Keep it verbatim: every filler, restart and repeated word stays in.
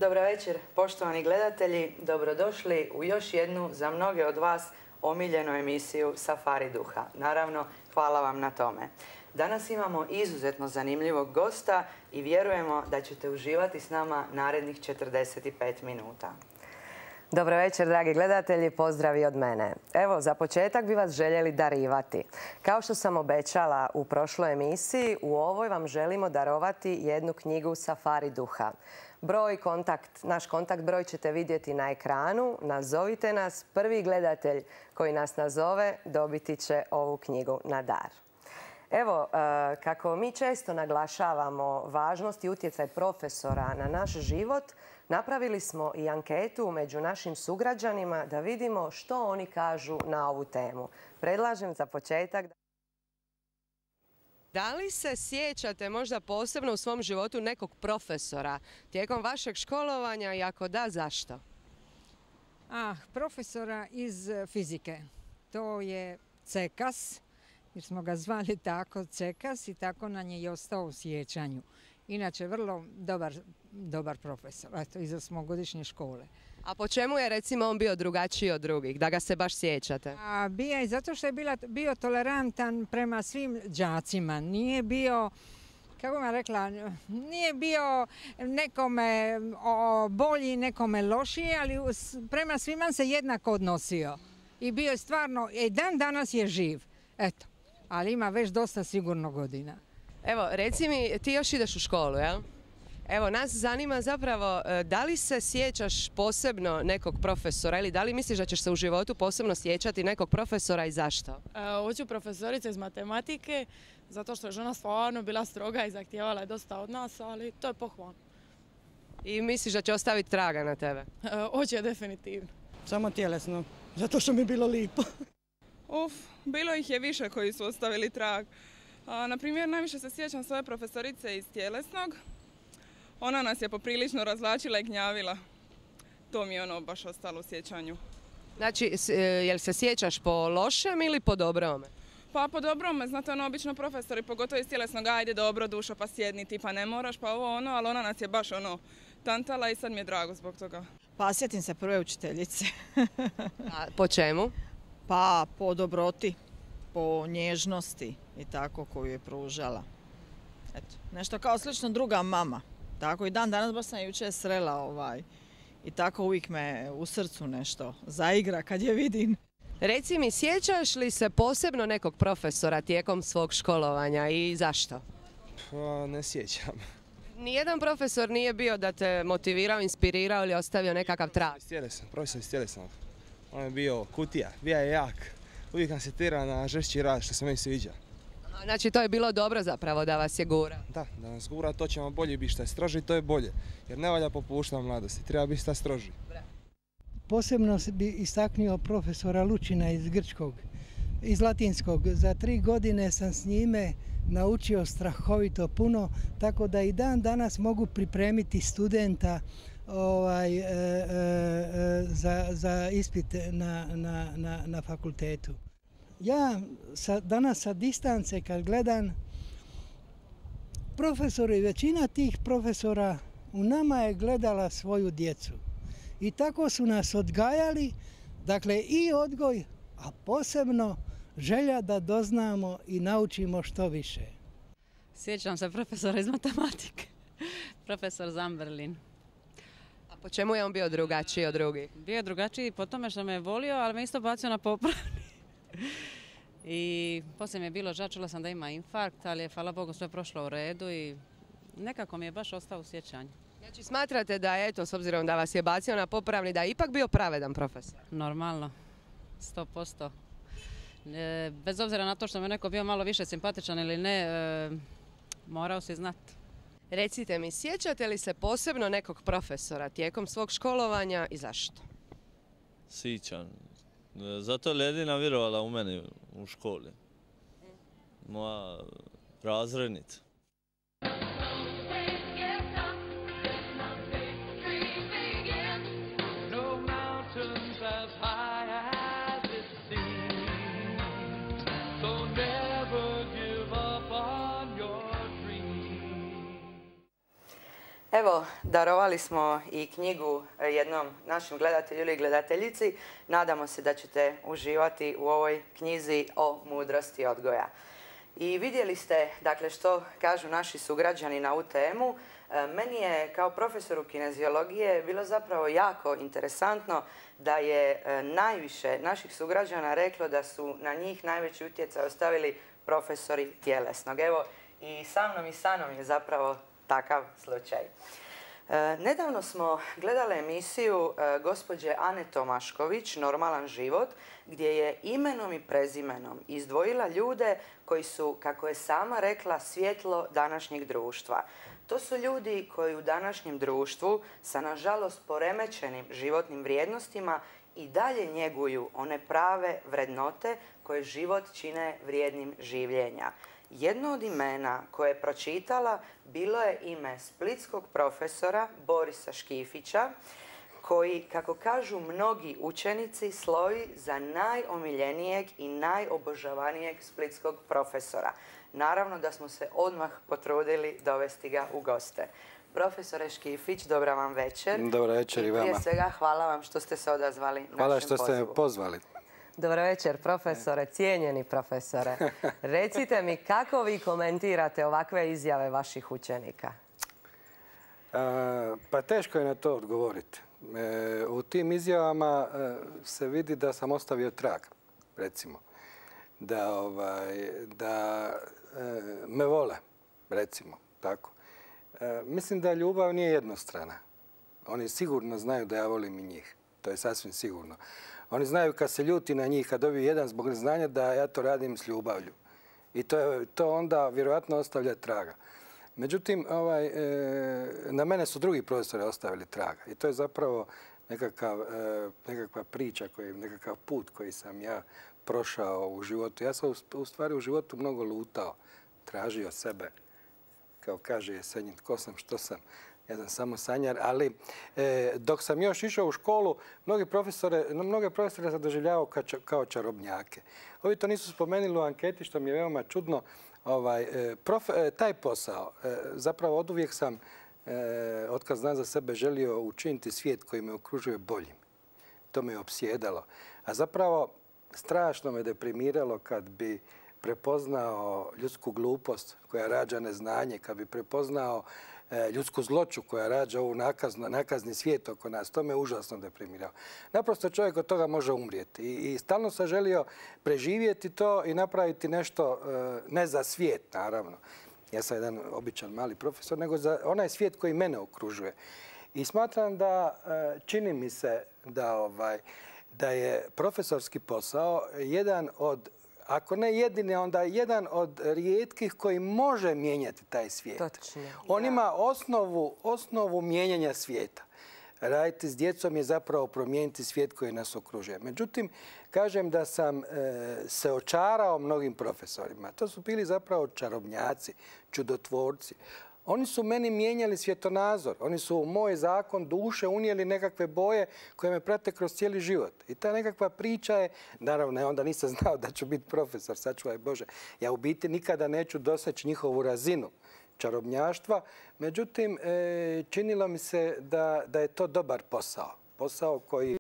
Dobro večer, poštovani gledatelji. Dobrodošli u još jednu, za mnoge od vas, omiljenu emisiju Safari duha. Naravno, hvala vam na tome. Danas imamo izuzetno zanimljivog gosta i vjerujemo da ćete uživati s nama narednih četrdeset pet minuta. Dobro večer, dragi gledatelji, pozdravi od mene. Evo, za početak bi vas željeli darivati. Kao što sam obećala u prošloj emisiji, u ovoj vam želimo darovati jednu knjigu Safari duha. Broj, kontakt, naš kontakt broj ćete vidjeti na ekranu. Nazovite nas, prvi gledatelj koji nas nazove dobiti će ovu knjigu na dar. Evo, kako mi često naglašavamo važnost i utjecaj profesora na naš život, napravili smo i anketu među našim sugrađanima da vidimo što oni kažu na ovu temu. Predlažem za početak... Da li se sjećate možda posebno u svom životu nekog profesora tijekom vašeg školovanja i ako da, zašto? Ah, profesora iz fizike. To je Cekas, jer smo ga zvali tako Cekas i tako nam je i ostao u sjećanju. Inače, vrlo dobar, dobar profesor, eto, iz osmogodišnje škole. A po čemu je, recimo, on bio drugačiji od drugih, da ga se baš sjećate? A, bio je zato što je bila, bio tolerantan prema svim đacima. Nije bio, kako vam rekla, nije bio nekome o, bolji, nekome lošiji, ali prema svima se jednako odnosio. I bio je stvarno, i dan danas je živ, eto, ali ima već dosta sigurno godina. Evo, reci mi, ti još ideš u školu, jel? Evo, nas zanima zapravo da li se sjećaš posebno nekog profesora ili da li misliš da ćeš se u životu posebno sjećati nekog profesora i zašto? E, hoću profesorica iz matematike, zato što je žena stvarno bila stroga i zahtijevala je dosta od nas, ali to je pohvalno. I misliš da će ostaviti traga na tebe? E, hoće, definitivno. Samo tjelesno, zato što mi je bilo lipo. Uf, bilo ih je više koji su ostavili trag. A, na primjer, najviše se sjećam svoje profesorice iz tjelesnog. Ona nas je poprilično razvlačila i gnjavila. To mi je ono baš ostalo u sjećanju. Znači, jel se sjećaš po lošem ili po dobrome? Pa po dobrome, znate, ono, obično profesori, pogotovo iz tjelesnog, ajde dobro dušo, pa sjedni ti, pa ne moraš, pa ovo ono, ali ona nas je baš ono tantala i sad mi je drago zbog toga. Pa sjetim se prve učiteljice. A po čemu? Pa po dobroti, po nježnosti i tako koju je pružala. Eto, nešto kao slično druga mama. Tako i dan danas baš sam jučer srela ovaj i tako uvijek me u srcu nešto zaigra kad je vidim. Reci mi, sjećaš li se posebno nekog profesora tijekom svog školovanja i zašto? Pa ne sjećam. Nijedan profesor nije bio da te motivirao, inspirirao ili ostavio nekakav trag? Profesor iz tjelesnog. On je bio kutija, bio je jak. Uvijek nas je tjerao na žešći rad, što se meni sviđa. Znači to je bilo dobro zapravo da vas je gura? Da, da nas gura, to ćemo bolje biti, što je stroži to je bolje. Jer ne valja popuštati mladosti, treba biti šta stroži. Posebno bi istaknuo profesora Lučina iz grčkog, iz latinskog. Za tri godine sam s njime naučio strahovito puno, tako da i dan danas mogu pripremiti studenta ovaj, e, e, za, za ispit na, na, na, na fakultetu. Ja sa, danas sa distance kad gledam, profesori, većina tih profesora u nama je gledala svoju djecu. I tako su nas odgajali, dakle i odgoj, a posebno želja da doznamo i naučimo što više. Sjećam se profesora iz matematike, profesor Zamberlin. A po čemu je on bio drugačiji od drugih? Bio je drugačiji po tome što me je volio, ali me isto bacio na popravni. I poslije mi je bilo žao, čula sam da ima infarkt, ali je, hvala Bogu, sve prošlo u redu i nekako mi je baš ostao u sjećanju. Znači smatrate da, eto, s obzirom da vas je bacio na popravni, da je ipak bio pravedan profesor? Normalno, sto posto. E, bez obzira na to što mi je neko bio malo više simpatičan ili ne, e, morao si znati. Recite mi, sjećate li se posebno nekog profesora tijekom svog školovanja i zašto? Sjećam. Zato je jedina vjerovala u mene u školi. Moja razrednica. Evo Evo, darovali smo i knjigu jednom našem gledatelju ili gledateljici. Nadamo se da ćete uživati u ovoj knjizi o mudrosti odgoja. I vidjeli ste, dakle, što kažu naši sugrađani na ovu temu. Meni je kao profesoru kineziologije bilo zapravo jako interesantno da je najviše naših sugrađana reklo da su na njih najveći utjecaj ostavili profesori tjelesnog. Evo, i sa mnom i sa mnom je zapravo takav slučaj. E, nedavno smo gledali emisiju e, gospođe Ane Tomašković, Normalan život, gdje je imenom i prezimenom izdvojila ljude koji su, kako je sama rekla, svjetlo današnjeg društva. To su ljudi koji u današnjem društvu sa, nažalost, poremećenim životnim vrijednostima i dalje njeguju one prave vrednote koje život čine vrijednim življenja. Jedno od imena koje je pročitala bilo je ime splitskog profesora Borisa Škifića, koji, kako kažu mnogi učenici, slovi za najomiljenijeg i najobožavanijeg splitskog profesora. Naravno da smo se odmah potrudili dovesti ga u goste. Profesore Škifić, dobra vam večer. Dobra večer i vama. I prije svega hvala vam što ste se odazvali našem pozivu. Hvala što ste me pozvali. Dobro večer, profesore, cijenjeni profesore. Recite mi, kako vi komentirate ovakve izjave vaših učenika? Pa teško je na to odgovoriti. U tim izjavama se vidi da sam ostavio trag, recimo. Da, ovaj, da me vole, recimo, tako. Mislim da ljubav nije jednostrana. Oni sigurno znaju da ja volim i njih. To je sasvim sigurno. Oni znaju kad se ljuti na njih, kad dobiju jedan zbog neznanja, da ja to radim s ljubavlju. I to, je, to onda vjerojatno ostavlja traga. Međutim, ovaj, e, na mene su drugi profesori ostavili traga. I to je zapravo nekakav, e, nekakva priča, koji, nekakav put koji sam ja prošao u životu. Ja sam u, u stvari u životu mnogo lutao, tražio sebe. Kao kaže Jesenjin, tko sam, što sam. Ja sam samo sanjar, ali e, dok sam još išao u školu, mnogi profesore, mnoge profesore sam doživljavao kao, kao čarobnjake. Ovi to nisu spomenuli u anketi, što mi je veoma čudno. Ovaj, e, prof, e, taj posao, e, zapravo oduvijek sam, e, otkad znam za sebe, želio učiniti svijet koji me okružuje boljim. To me je opsjedalo. A zapravo strašno me deprimiralo kad bi prepoznao ljudsku glupost koja rađa neznanje, kad bi prepoznao ljudsku zloću koja rađa ovu nakazno, nakazni svijet oko nas. To me užasno deprimirao. Naprosto čovjek od toga može umrijeti. I, i stalno sam želio preživjeti to i napraviti nešto, ne za svijet, naravno. Ja sam jedan običan mali profesor, nego za onaj svijet koji mene okružuje. I smatram da čini mi se da, ovaj, da je profesorski posao jedan od, ako ne jedini, onda jedan od rijetkih koji može mijenjati taj svijet. Točno. On ima osnovu, osnovu mijenjanja svijeta. Raditi s djecom je zapravo promijeniti svijet koji nas okružuje. Međutim, kažem da sam e, se očarao mnogim profesorima. To su bili zapravo čarobnjaci, čudotvorci. Oni su meni mijenjali svjetonazor. Oni su u moj zakon duše unijeli nekakve boje koje me prate kroz cijeli život. I ta nekakva priča je, naravno, ja onda nisam znao da ću biti profesor, sačuvaj Bože. Ja u biti nikada neću doseći njihovu razinu čarobnjaštva. Međutim, činilo mi se da, da je to dobar posao. Posao koji